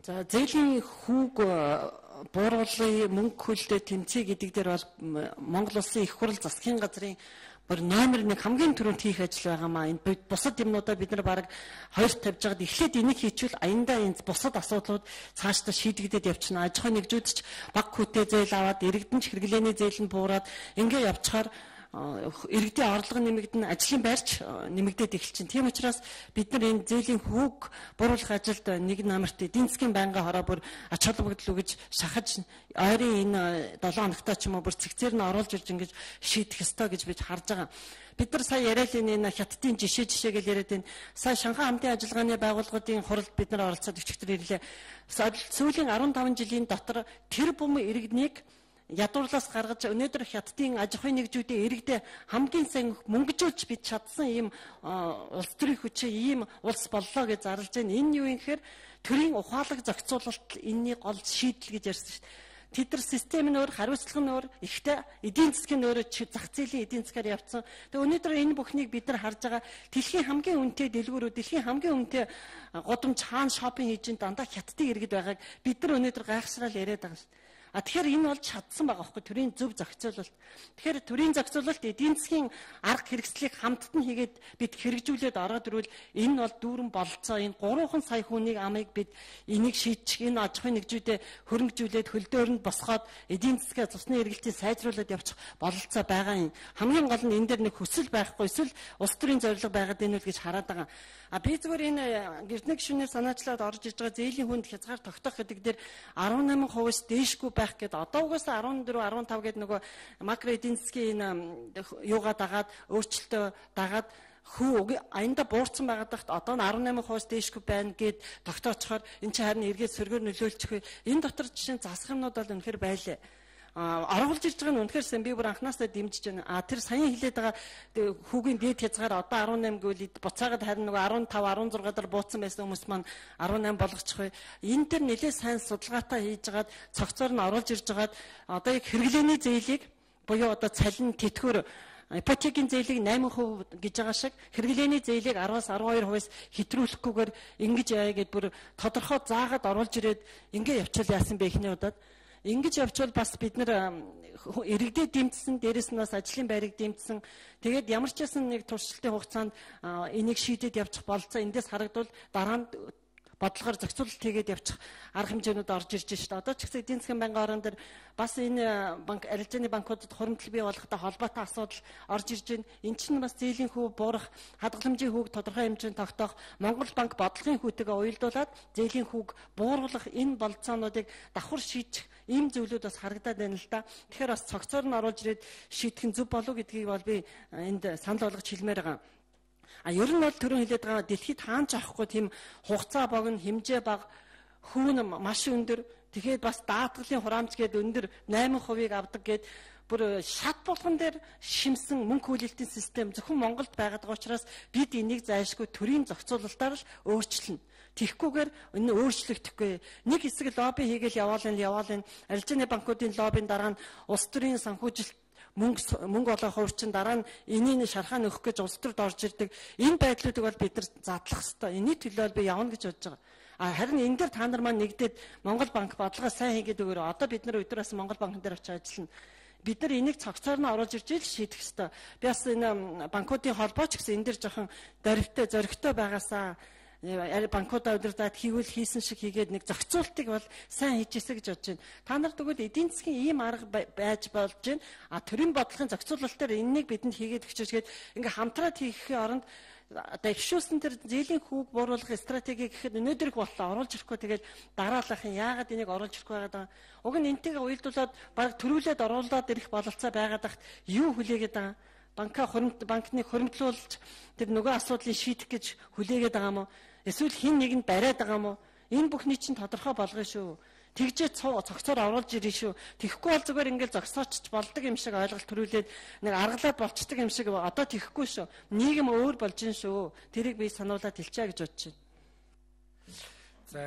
За зээлийн хүүг бууруулгын мөнгө хөлдөө тэмцэе гэдэг дээр бол Монгол Улсын их хурл засгийн газрын бүр номер 1 хамгийн түрүүнд хийх ажил байгаамаа. Энэ бусад юмнуудаа бид нар бараг хоёрт тавьж байгаад эхлээд энийг хийчихвэл аяндаа энэ бусад асуудлууд цаашдаа шийдэгдээд явчихна. Аж ахуйн нэгжүүд ч баг хүүтэй зээл аваад иргэдэн ч хэрэглээний зээл нь буураад ингээ явчихаар иргэдийн орлого нэмэгдэн, ажлын байрч нэмэгдээд эхэлчихин. Тийм учраас бид нар энэ зээлийн хүүг бууруулах ажилд нэг номерт эдийн засгийн байнгын хороо бүр ач холбогдол өгж шахаж ойрын энэ 7 хоногтой ч юм уу бүр цэгцээр нь оруулж ирж ингэж шийдэх ёстой гэж бид харж байгаа. Бид нар сая яриад энэ хятадын жишээ гэж яриад энэ сая Шанхай хамтын ажиллагааны байгууллагуудын хуралд бид нар оролцоод өчигдөр ирлээ. Сүүлийн 15 жилийн дотор тэр бум иргэднийг ядуурлаас гаргаж өнөөдөр хятадын аж ахуйн нэгжүүдийн иргэдээ хамгийн сайн мөнгөжүүлж бид чадсан ийм улс төрийн хүчээ ийм улс боллоо гэж зарлж байна. Энэ юу юм гэхээр төрийн ухаалаг зохицуулалт энэний гол шийдэл гэж ярьсан шүү дээ. Тэд нар систем нь өөр, хариуцлага нь өөр, ихтэй эдийн засгийн өөр зах зээлийн эдийн засгаар явцсан. Тэгээ өнөөдөр энэ бүхнийг бид нар харж байгаа дэлхийн хамгийн үнэтэй дэлгүүрүүд, дэлхийн хамгийн үнэтэй годамж хаан шопинг хийж дандаа хятадын иргэд байгааг бид нар өнөөдөр гайхшраал яриад байгаа шүү дээ. Тэгэхээр энэ бол чадсан байгаа байхгүй төрийн зөв зохицуулалт. Тэгэхээр төрийн зохицуулалт эдийн засгийн арга хэрэгслийг хамтд нь хийгээд бид хэрэгжүүлээд ороод ирвэл энэ бол дүүрэн бололцоо. Энэ 3 сая хүнийг амыг бид энийг шийдчих, энэ аж ахуйн нэгжүүдэд хөрөнгөжүүлээд хөлдөөрөнд босгоод эдийн засгаа цусны эргэлтийг сайжруулад явчих бололцоо байгаа юм. Хамгийн гол нь энэ дээр нэг хүсэл байхгүй, эсвэл улс төрийн зорилго байгаад энэ үл гэж хараад байгаа. Би зүгээр энэ гэрднэг гишүүнээр санаачлаад орж иж байгаа зээлийн хүнд хязгаар тогтоох гэдэг дээр 18%-аас дээшгүй байх гэдэг. Одоо угаасаа 14, 15 гэдэг нөгөө макро эдийн засгийн юугаа дагаад өөрчлөлтөө дагаад хүү аянда буурсан байгаад тахт одоо нь 18%-аас дээшгүй байна гэд тогтоочхоор эн чинь харин эргээд сөргөөр нөлөөлчих. Энэ дотор жишээ засах юмнууд бол үнэхээр байлаа. Оруулж ирж байгаа нь үнэхээр сэн би бүр анхнаасаа дэмжиж байна. Тэр саяхан хэлээд байгаа хүүгийн дээд хязгаар одоо 18 гэвэл буцаагаад харин нөгөө 15, 16 дараа бууцсан байсан хүмүүс маань 18 болгочих вэ. Энэ төр нэлээд сайн судалгаатай хийж хагаад цогцоор нь оруулж ирж хагаад одоо яг хэрэглээний зээлийг буюу одоо цалин тэтгэвэр ипотекийн зээлийг 8% гэж байгаа шиг хэрэглээний зээлийг 10-аас 12%-аас хэтрүүлэхгүйгээр ингэж яая гэд бүр тодорхой заагаад оруулж ирээд ингэ явуул яасан бэ ихний удаад. Ингэж явчвал бас бид нар иргэдэд дэмжсэн, дээрэс нь бас ажлын байрыг дэмжсэн. Тэгээд ямар ч байсан нэг туршилтын хугацаанд энийг шийдээд явчих болцоо эндээс харагдвал дараа нь бодлогоор зохицуулалт хийгээд явчих арга хэмжээнүүд орж ирж байна. Одоо ч гэсэн эдийн засгийн байнгын орон дээр бас энэ арилжааны банкудад хуримтлал бий болгохтой холбоотой асуудал орж ирж байна. Энд чинь бас зээлийн хүү буурах, хадгаламжийн хүүг тодорхой хэмжээнд тогтоох, Монгол банк бодлогын хүүтэйгээ уялдуулаад зээлийн хүүг бууруулах энэ болцоонуудыг давхар шийдэх ийм зүйлүүд бас харагдаад байна л да. Тэгэхээр бас цогцоор нь оруулж ирээд шийдэх нь зөв болов гэдгийг бол би энд санал болгож хэлмээр байгаа. Ер нь бол түрүүн хэлээд байгаа дэлхийд хаанч авахгүй тийм хугацаа богино, хэмжээ бага, хүүн маш өндөр. Тэгэхээр бас даатгалын хураамж гээд өндөр 8%-ийг авдаг гээд бүр шат болгон дээр шимсэн мөнгө хүлээлтийн систем зөвхөн Монголд байгаад байгаа учраас бид энийг зайлшгүй төрийн зохицуулалтаар л өөрчилнө. Тэгхгүйгээр энэ өөрчлөгдөхгүй. Нэг хэсэг лобби хийгээл яваал энэ арилжааны банкуудын лоббийн дараа нь улс төрийн санхүүжилт мөнгө олох хувьчин дараа нь энийг шархаа нөхөх гэж улс төрд орж ирдэг. Энэ байдлуудыг бол бид нар задлах ёстой. Энэний төлөө би явна гэж бодож байгаа. Харин энэ дээр та нар маань нэгдээд Монгол банк бодлогоо сайн хийгээд өгөөрэй. Одоо бид нар өдрөөс Монгол банкн дээр очиж ажиллана. Бид нар энийг цогцоор нь оруулж ирж шийдэх ёстой. Би бас энэ банкуудын холбоо ч гэсэн энэ дээр жоохон зоригтой байгаасаа банкудаа удирдаад хийсэн шиг хийгээд нэг зохицуултыг бол сайн хийжээсэ гэж бодож байна. Та нар тэгвэл эдийн засгийн ийм арга байж болж байна. Төрийн бодлогын зохицуулалтаар энэнийг бидэнд хийгээд өгчөөсгээд ингээ хамтраад хийхийн оронд одоо ихшүүлсэн тэр зээлийн хүүг бууруулах стратеги гэхэд өнөөдөр их боллоо оруулж ирэхгүй тэгээд дараалахын яагаад энийг оруулж ирэхгүй байгаа. Уг нь энтэйгээ уялдуулаад баг төрүүлээд оруулаад ирэх бололцоо байгаад тахт юу хүлээгээд байгаа. Банкны хуримтлуулж тэр нөгөө асуудлыг шийдэх гэж хүлээгээд байгаа юм уу? Эсвэл хин нэгэнд бариад байгаа юм уу? Энэ бүхний чинь тодорхой болгоно шүү. Тэгжээ цогцоор оруулж ирнэ шүү. Тэхгүй бол зүгээр ингээл зогсоочч болдог юм шиг ойлголт төрүүлээд нэг аргалаад болцдог юм шиг одоо тэхгүй шүү. Нийгэм өөр болж гин шүү. Тэрийг би сануулаад хэлчихье гэж бодож байна. За